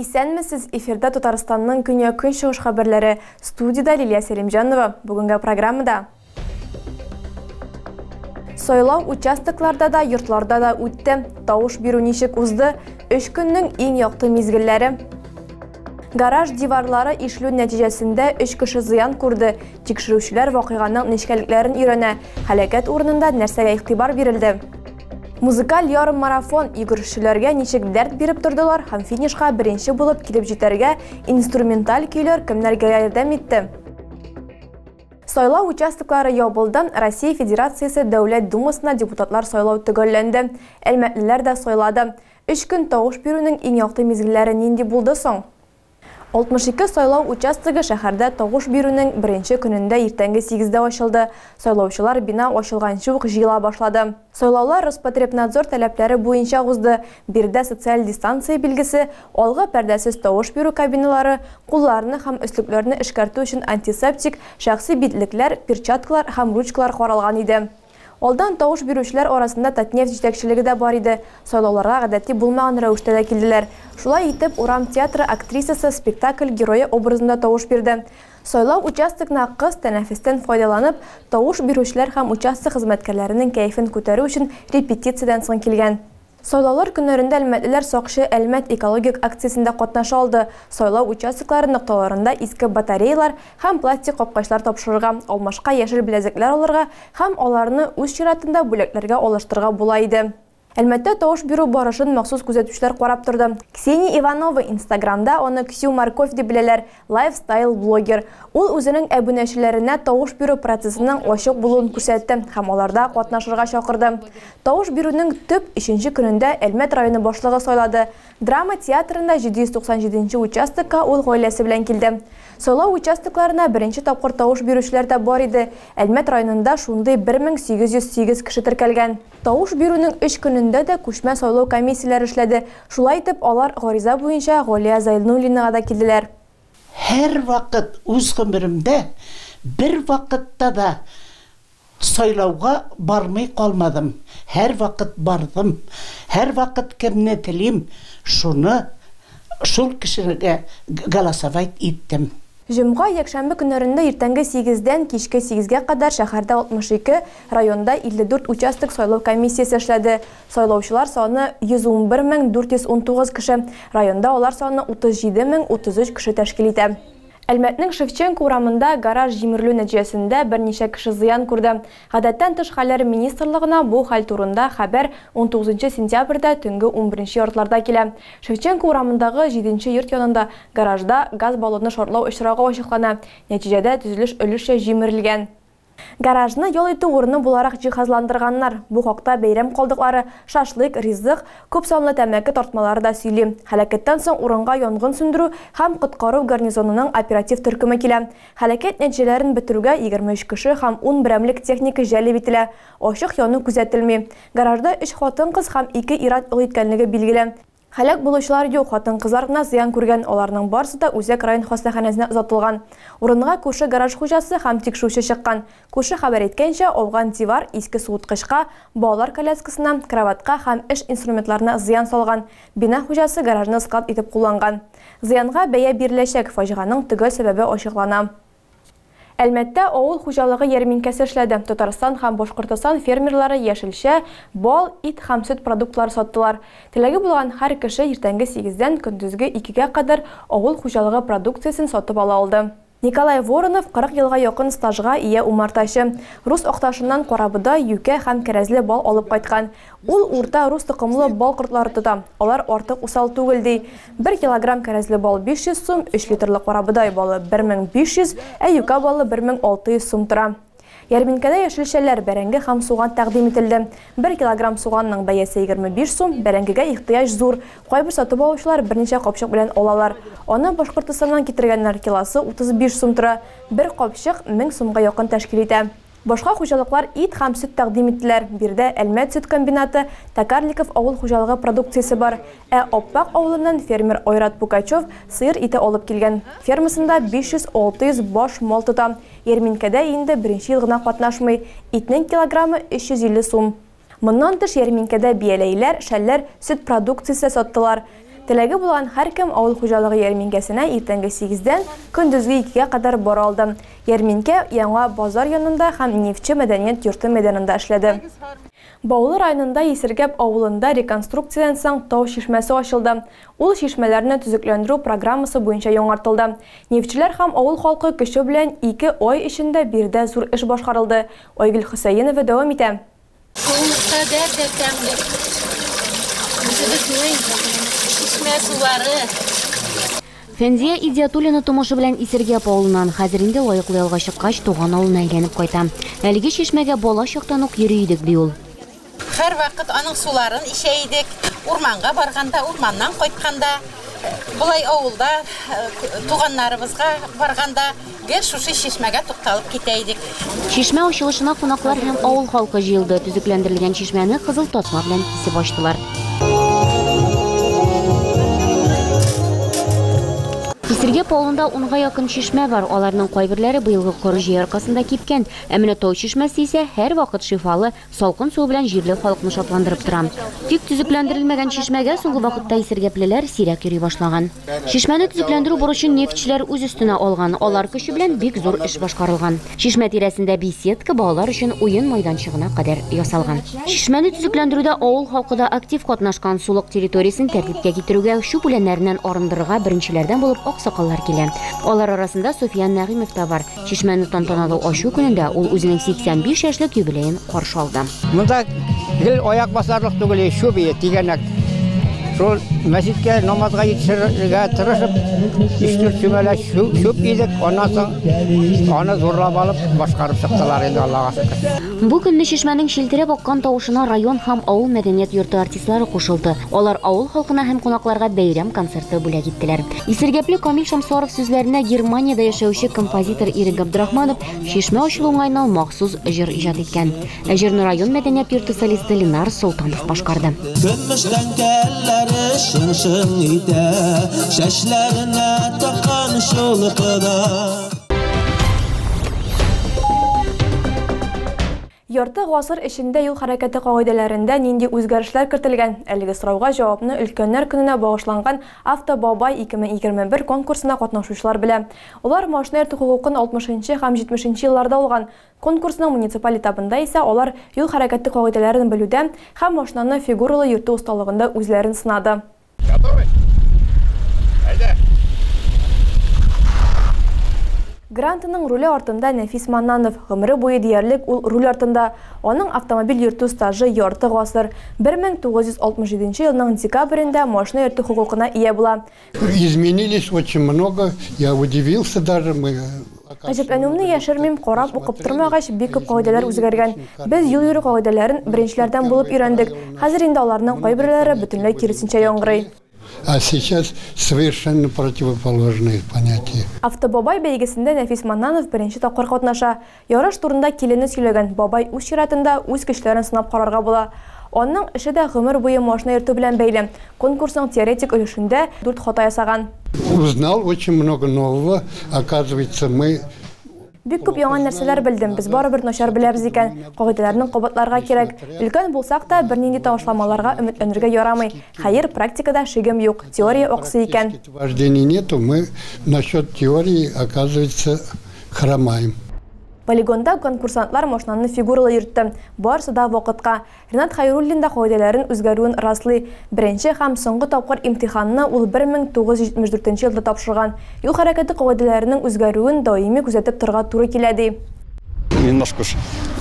Исәнмесез, эфирда Татарстанның көньяк-көнчыгыш хәбәрләре. Студиядә Лилия Сәлимҗанова. Бүгенге программада Сайлау участокларда да, йортларда да үтте. Тавыш бирү ничек узды? Өч көннең иң якты мизгелләре. Гараж диварлары ишелү нәтиҗәсендә өч кеше зыян күрде. Тикшерүчеләр вакыйганың нечкәлекләрен өйрәнә. Һәлакәт урынында нәрсәгә игътибар бирелде? Музыкаль ярыммарафон йөгерешчеләргә ничек дәрт биреп тордылар һәм финишка беренче булып килеп җитәргә инструменталь көйләр кемнәргә ярдәм итте? Сайлау участоклары ябылды. Россия Федерациясе Дәүләт Думасына депутатлар сайлау төгәлләнде. Әлмәтлеләр дә сайлады. Өч көн тавыш бирүнең иң якты мизгелләре нинди булды соң? 62 сайлау участогы шәһәрдә тавыш бирүнең беренче көнендә иртәнге 8дә ачылды. Сайлаучылар бина ачылганчы ук җыела башлады. Сайлаулар Роспотребнадзор таләпләре буенча узды. Биредә социаль дистанция билгесе, алгы пәрдәсез тавыш бирү кабиналары, кулларны һәм өслекләрне эшкәртү өчен антисептик, шәхси битлекләр, перчаткалар һәм ручкалар каралган иде. Алдан тавыш бирүчеләр арасында Татнефть җитәкчелеге дә бар иде. Сайлауларга гадәти булмаган рәвештә дә килделәр. Шулай итеп, урам театры актрисасы спектакль герое образында тавыш бирде. Сайлау участогына кыз тәнәфестән файдаланып, тавыш бирүчеләр һәм участок хезмәткәрләренең кәефен күтәрү өчен репетициядән соң килгән. Сайлаулар көннәрендә әлмәтлеләр Сакчы Әлмәт экологик акциясендә катнаша алды. Сайлау участоклары нокталарында иске батареялар һәм пластик капкачлар тапшырырга, алмашка яшел беләзекләр алырга һәм аларны үз чиратында бүләкләргә алыштырырга була иде. Әлмәттә тавыш бирү барышын махсус күзәтүчеләр карап торды. Ксения Иванова Инстаграмда аны Ксю Морковь дип беләләр, лайфстайл блогер. Ул үзенең әбүнәчеләренә тавыш бирү процессының ачык булуын күрсәтте һәм аларда катнашырга чакырды. Тавыш бирүнең төп өченче көнендә Әлмәт районы башлыгы сайлады. Драма театрында 797 участокка ул гаиләсе белән килде. Сайлау участокларына беренче тапкыр тавыш бирүчеләр дә бар иде. Әлмәт районында шундый 1808 кеше теркәлгән. Тавыш бирүнең өч көнендә дә күчмә сайлау комиссияләре эшләде. Шулай итеп, алар гариза буенча Галия Зайнуллинага да килделәр. Һәрвакыт үз гомеремдә бер вакытта да сайлауга бармый калмадым. Һәрвакыт бардым. Һәрвакыт кемне телим, шуны шул кешегә голосовать иттем. Җомга, якшәмбе көннәрендә иртәнге 8дән кичке 8гә кадәр шәһәрдә 62, районда 54 участок сайлау комиссиясе эшләде. Сайлаучылар саны 111419 кеше, районда алар саны 37033 кеше тәшкил итә. Әлмәтнең Шевченко урамында гараж җимерелү нәтиҗәсендә берничә кеше зыян күрде. Гадәттән тыш хәлләр министрлыгына бу хәл турында хәбәр 19 сентябрьдә төнге 11 яртыларда килә. Шевченко урамындагы 7 йорт янында гаражда газ баллоны шартлау очрагы ачыклана. Нәтиҗәдә төзелеш өлешчә җимерелгән. Гаражны ял итү урыны буларак җиһазландырганнар. Бу хакта бәйрәм калдыклары, шашлык, ризык, күп санлы тәмәке тартмалары да сөйли. Һәлакәттән соң урынга янгын сүндерү һәм коткару гарнизонының оператив төркеме килә. Һәлакәт нәтиҗәләрен бетерүгә 23 кеше һәм 10 берәмлек техника җәлеп ителә. Ачык яну күзәтелми. Гаражда 3 хатын-кыз һәм 2 ир-ат ял иткәнлеге билгеле. Һәлак булучылар юк, хатын-кызлар гына зыян күргән, аларның барысы да үзәк район хастаханәсенә озатылган. Урынга күрше гараж хуҗасы һәм тикшерүче чыккан. Күрше хәбәр иткәнчә, ауган дивар иске суыткычка, балалар коляскасына, кроватька һәм эш инструментларына зыян салган. Бина хуҗасы гаражны склад итеп кулланган. Зыянга бәя биреләчәк, фаҗиганың төгәл сәбәбе ачыклана. Әлмәттә авыл хуҗалыгы ярминкәсе эшләде. Татарстан һәм Башкортостан фермерлары яшелчә, бал, ит һәм сөт продуктлары саттылар. Теләге булган һәр кеше иртәнге 8дән көндезге 2гә кадәр авыл хуҗалыгы продукциясен сатып ала алды. Николай Воронов 40 елга якын стажга ия умартачы. Рус Акташыннан карабодай, юкә һәм кәрәзле бал алып кайткан. Ул урта рус токымлы бал кортлары тота. Алар артык усал түгел ди. 1 килограмм кәрәзле бал 500 сум, 3 литрлы карабодай балы 1500, ә юкә балы 1600 сум тора. Ярминкәдә яшелчәләр, бәрәңге һәм суган тәкъдим ителде. 1 килограмм суганның бәясе 25 сум, бәрәңгегә ихтыяҗ зур. Кайбер сатып алучылар берничә капчык белән алалар. Аны Башкортостаннан китергәннәр, килосы 35 сум тора. Бер капчык 1000 сумга якын тәшкил итә. Башка хуҗалыклар ит һәм сөт тәкъдим иттеләр. Биредә Әлмәт сөт комбинаты, Токарликов авыл хуҗалыгы продукциясе бар. Ә Аппак авылыннан фермер Айрат Пукачев сыер ите алып килгән. Фермасында 500-600 баш мал тота. Ярминкәдә инде беренче ел гына катнашмый. Итнең килограммы 350 сум. Моннан тыш ярминкәдә бияләйләр, шәлләр, сөт продукциясе саттылар. Теләге булган һәркем авыл хуҗалыгы ярминкәсенә иртәнге сигездән көндезге икегә кадәр бара алды. Ярминкә яңа базар янында һәм Нефтьче мәдәният йорты мәйданында эшләде. Баулы районында Исергәп авылында реконструкциядән соң тау чишмәсе ачылды. Ул чишмәләрне төзекләндерү программасы буенча яңартылды. Нефтьчеләр һәм авыл халкы көче белән 2 ай эчендә биредә зур эш башкарылды. Айгөл Хөсәенова дәвам итә. Шулкадәр дә тәмле. Үзебезнең чишмә сулары. Фәнзия Идиатуллина тумышы белән Исергәп авылыннан, хәзер инде лаеклы ялга чыккач, туган авылына әйләнеп кайта. Әлеге чишмәгә бала чактан ук йөри идек, ди ул. Һәрвакыт аның суларын эчә идек. Урманга барганда, урманнан кайтканда, болай авылда туганнарыбызга барганда гел шушы чишмәгә тукталып китә идек. Чишмә ачылышына кунаклар һәм авыл халкы җыелды. Төзекләндерелгән чишмәне кызыл тасма белән кисеп ачтылар. Исергәп авылында унга якын чишмә бар. Аларның кайберләре быелгы коры җәй аркасында кипкән. Ә менә тау чишмәсе исә һәрвакыт шифалы, салкын суы белән җирле халыкны шатландырып тора. Тик төзекләндерелмәгән чишмәгә соңгы вакытта исергәплеләр сирәк йөри башлаган. Чишмәне төзекләндерү бурычын нефтьчеләр үз өстенә алган. Алар көче белән бик зур эш башкарылган. Чишмә тирәсендә беседка балалар өчен уен майданчыгына кадәр ясалган. Чишмәне төзекләндерүдә авыл халкы да актив катнашкан. Сулык территориясен тәртипкә китерүгә, чүп үләннәреннән арындырырга беренчеләрдән булып аксакаллар килә. Алар арасында Суфиян Нәгыймов та бар. Чишмәне тантаналы ачу көнендә ул үзенең 85 яшьлек юбилеен каршы алды. Монда гел аяк басарлык түгел, чүп ие, тигәнәк. Шул мәчеткә намазга җитешергә тырышып, өч-дүрт чүмәлә чүп идек, аннан соң аны зурлап алып башкарып чыктылар инде, Аллага шөкер. Бу көнне чишмәнең челтерәп аккан тавышына район һәм авыл мәдәният йорты артистлары кушылды. Алар авыл халкына һәм кунакларга бәйрәм концерты бүләк иттеләр. Исергәпле Камил Шәмсуаров сүзләренә Германиядә яшәүче композитор Ирек Габдрахманов чишмә ачылу уңаеннан махсус җыр иҗат иткән. Ә җырны район мәдәният йорты солисты Ленар Солтанов башкарды. Көмештән кәлләре шың-шың итә, чәчләренә таккан чулпыда. Ярты гасыр эчендә юл хәрәкәте кагыйдәләрендә нинди үзгәрешләр кертелгән? Әлеге сорауга җавапны өлкәннәр көненә багышланган Автобабай 2021 конкурсына катнашучылар белә. Алар машина йөртү хокукын 60 һәм 70 елларда алган. Конкурсның муниципаль этабында исә алар юл хәрәкәте кагыйдәләрен белүдә һәм машинаны фигуралы йөртү осталыгында үзләрен сынады. Готовы? Әйдә! Грантының руле артында Нәфис Маннанов. Гомере буе диярлек ул руль артында. Аның автомобиль йөртү стажы ярты гасыр. 1967 елның декабрендә машина йөртү хокукына ия була. Изменились очень много, я удивился даже. Мы Гаҗәпләнүемне яшермим, карап укып тормагач, бик күп кагыйдәләр үзгәргән. Без юл йөрү кагыйдәләрен беренчеләрдән булып өйрәндек. Хәзер инде аларның кайберләре бөтенләй киресенчә яңгырый. А сейчас совершенно противоположные понятия. Автобабай бәйгесендә Нәфис Маннанов беренче тапкыр катнаша. Ярыш турында килене сөйләгән. Бабай үз чиратында үз көчләрен сынап карарга була. Аның эше дә гомер буе машина йөртү белән бәйле. Конкурсның теоретик өлешендә 4 хата ясаган. Узнал очень много нового. Оказывается, мы Бик күп яңа нәрсәләр белдем. Без барыбер начар беләбез икән. Кагыйдәләрне кабатларга кирәк. Өлкән булсак та бернинди ташламаларга өметләнергә ярамый. Хәер, практикада шигем юк. Теория аксый икән. Вождения нету, мы насчет теории, оказывается, хромаем. Полигонда конкурсантлар машинаны фигуралы йөртте. Барысы да вакытка. Ренат Хайруллин да кагыйдәләрен үзгәрүен раслый. Беренче һәм соңгы тапкыр имтиханны ул 1974 елда тапшырган. Юл хәрәкәте кагыйдәләренең үзгәрүен даими күзәтеп торырга туры килә ди. Немножко уж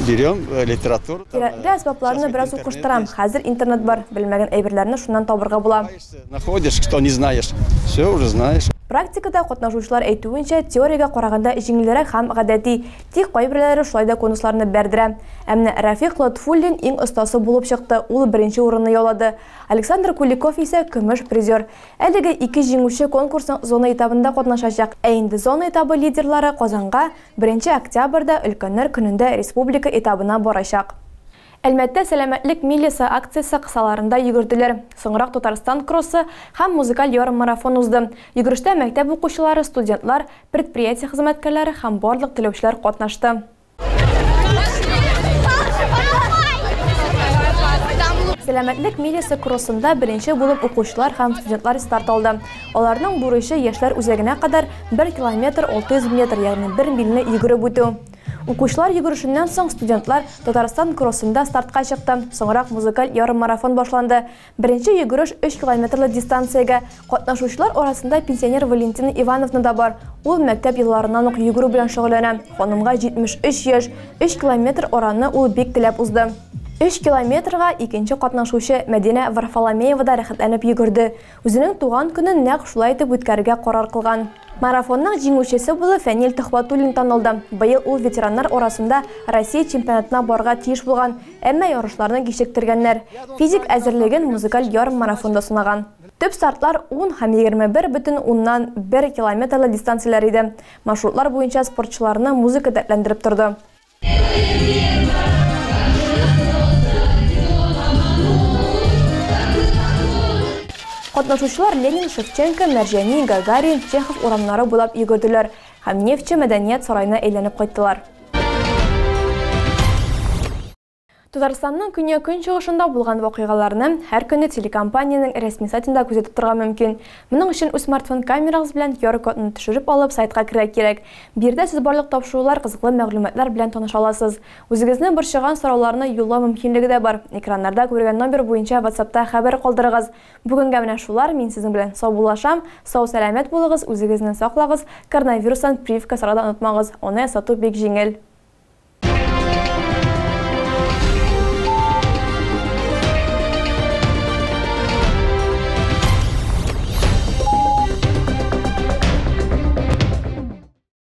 берем литературу. Кирәкле әсбапларны бераз укыштырам. Хәзер интернет бар. Белмәгән әйберләрне шуннан табырга була. Находишь, что не знаешь, все уже знаешь. Практикада катнашучылар әйтүенчә, теориягә караганда җиңелрәк һәм гадәти. Тик кайберләре шулай да конусларны бәрдерә. Ә менә Рафик Латфуллин иң остасы булып чыкты. Ул беренче урынны яулады. Александр Куликов исә көмеш призер. Әлеге ике җиңүче конкурсның зона этабында катнашачак. Ә инде зона этабы лидерлары Казанга 1 октябрьдә өлкәннәр көнендә республика этабына барачак. Әлмәттә сәламәтлек милясы акциясе кысаларында йөгерделәр. Соңрак Татарстан кроссы һәм музыкаль ярыммарафон узды. Йөгерештә мәктәп укучылары, студентлар, предприятие хезмәткәрләре һәм барлык теләүчеләр катнашты. Сәламәтлек милясы кроссында беренче булып укучылар һәм студентлар старт алды. Аларның бурычы яшьләр үзәгенә кадәр 1 километр 600 метр, ягъни 1 мильне йөгереп үтү. Укучылар йөгерешеннән соң студентлар Татарстан кроссында стартка чыкты. Соңрак музыкаль ярыммарафон башланды. Беренче йөгереш 3 километрлы дистанциягә. Катнашучылар арасында пенсионер Валентина Ивановна да бар. Ул мәктәп елларыннан ук йөгерү белән шөгыльләнә. Ханымга 73 яшь. 3 километр араны ул бик теләп узды. 3 километрга икенче катнашучы Мәдинә Варфоломеева да рәхәтләнеп йөгерде. Үзенең туган көнен нәкъ шулай итеп үткәрергә карар кылган. Марафонның җиңүчесе булып Фәнил Төхвәтуллин танылды. Быел ул ветераннар арасында Россия чемпионатына барырга тиеш булган, әмма ярышларны кичектергәннәр. Физик әзерлеген музыкаль ярыммарафонда сынаган. Төп стартлар 10 һәм 21,1 километрлы дистанцияләр иде. Маршрутлар буенча спортчыларны музыка дәртләндереп торды. Катнашучылар Ленин, Шевченко, Мәрҗани, Гагарин, Чехов урамнары буйлап йөгерделәр һәм Нефтьче мәдәният сараена әйләнеп кайттылар. Татарстанның көньяк-көнчыгышында булган вакыйгаларны һәр көнне телекомпаниянең рәсми сайтында күзәтеп торырга мөмкин. Моның өчен үз смартфон камерагыз белән QR-кодны төшереп алып сайтка керергә кирәк. Биредә сез барлык тапшырулар, кызыклы мәгълүматлар белән таныша аласыз. Үзегезне борчыган сорауларны юллау мөмкинлеге дә бар. Экраннарда күргән номер буенча WhatsAppта хәбәр калдырыгыз. Бүгенгә менә шулар, мин сезнең белән саубуллашам. Сау-сәламәт булыгыз, үзегезне саклагыз, коронавирустан прививка ясарга да онытмагыз. Аны ясату бик җиңел.